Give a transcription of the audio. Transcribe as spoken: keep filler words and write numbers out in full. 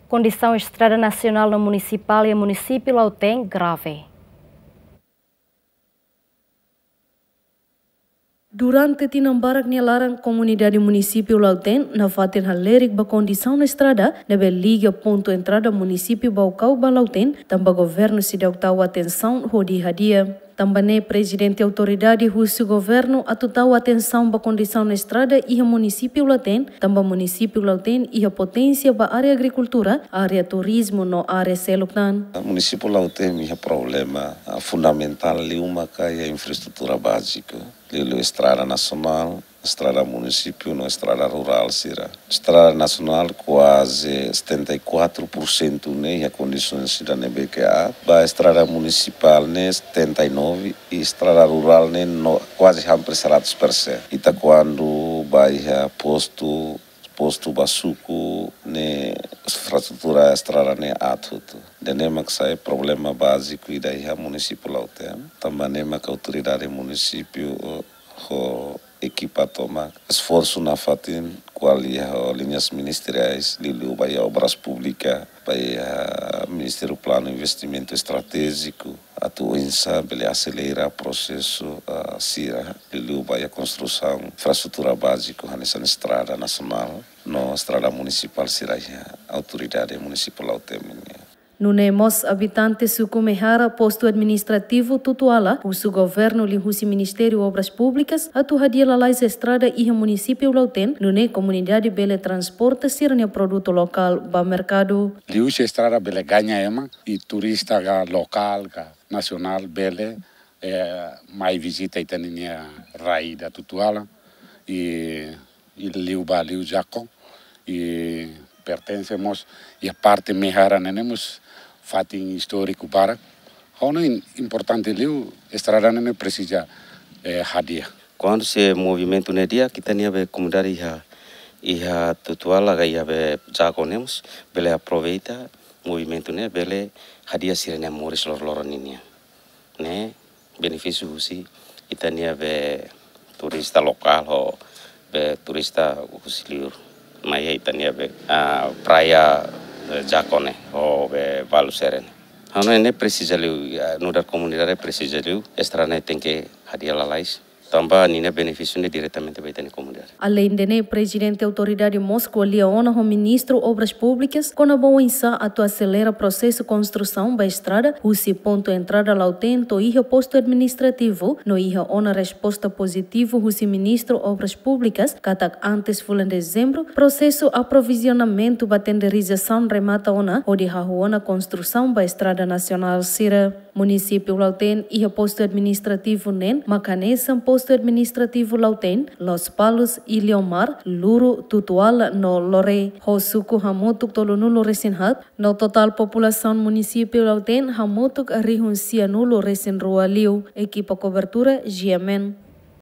Kondisaun estrada nasionál no munisipál iha munisípiu Lautém grave. Durante tinan barak nia laran, komunidade munisípiu Lautém nafatin halerik ba kondisaun estrada ne'ebé liga pontu entrada munisípiu Baucau ba Lautém, tanba governu seidauk tau atensaun hodi hadi'a. Tanba ne'e, Prezidente Autoridade husu governu atu tau atensaun ba kondisaun estrada iha munisípiu Lautém, tanba munisípiu Lautém iha poténsia ba área agrikultura, área turizmu no área seluk tan. Munisípiu Lautém iha problema, ah, fundamentál liu maka iha infraestrutura báziku, liuliu estrada nasionál, estrada munisípiu no estrada rurál sira. Estrada nasionál kuaze setenta e quatro por cento ne'e iha kondisaun sira ne'ebé ke aat. Ba estrada munisipál ne'e setenta e nove, i estrada rurál ne'e no, kuaze hampir seratus persen. Ita kuandu ba iha postu, postu ba suku ne'e infraestrutura estrada ne'e aat hotu. Ida-ne'e mak sai problema báziku ida iha munisípiu Lautém. Tanba ne'e mak autoridade munisípiu, eh, ho ekipa toma esforsu nafatin ko'alia ho liñas ministeriais, liuliu ba iha Obras Públikas, ba iha Ministériu Planu Investimentu Estratéjiku, atu oinsá bele aselera prosesu, ah, sira, liuliu ba iha konstrusaun infraestrutura báziku, hanesan estrada nasionál no estrada munisipál sira iha autoridade munisípiu Lautém nian. Nune'e mós abitante suku Mehara, postu administrativu Tutuala, husu governu liuhusi Ministériu Obras Públikas atu hadi'a lalais estrada iha munisípiu Lautém, nune'e komunidade bele transporta sira-nia produtu lokál ba merkadu. Liuhusi estrada bele gaña ema, i turista ka lokál ka nasionál bele, eh, mai vizita ita-nia rai ida Tutuala, i, i liu ba liu Jaco, i pertense mós iha parte Mehara ne'e ne'e mós fatin istóriku barak. Ha'u hanoin importante liu estrada ne'e ne'e presiza, eh, hadi'a. Kuandu se movimentu ne'e di'ak, ita-nia be komunidade iha, iha Tutuala ka iha be Jaco ne'e mós bele aproveita movimentu ne'e bele hadi'a sira-nia moris loroloron ninian. Ne'e benefísiu husi ita-nia be turista lokál ho be turista husi liur mai iha ita-nia be, ah, praia, eh, Jaco ne'e ho be Balusere ne'e. Ha'u hanoin ne'e presiza liu, ah, nu'udar komunidade presiza liu estrada ne'e tenke hadi'a lalais. Tanba ninia benefísiu ne'e diretamente ba ita-nia komunidade. Aleinde ne'e, Prezidente Autoridade mós ko'alia ona ho Ministru Obras Públikas kona-ba oinsá atu aselera prosesu konstrusaun ba estrada husi pontu entrada Lautém to'o iha postu administrativu, no iha ona resposta pozitivu husi Ministru Obras Públikas katak antes fulan Dezembru prosesu aprovizionamentu ba tenderizasaun remata ona hodi hahú ona konstrusaun ba estrada nasionál sira. Munisípiu Lautém iha postu administrativu neen mak hanesan postu administrativu Lautém, Lospalos, Iliomar, Luro, Tutuala no Loré, ho suku hamutuk tolunulu-resin-haat, no totál populasaun munisípiu Lautém hamutuk rihun sianulu-resin-rua liu. Ekipa kobertura, G M N.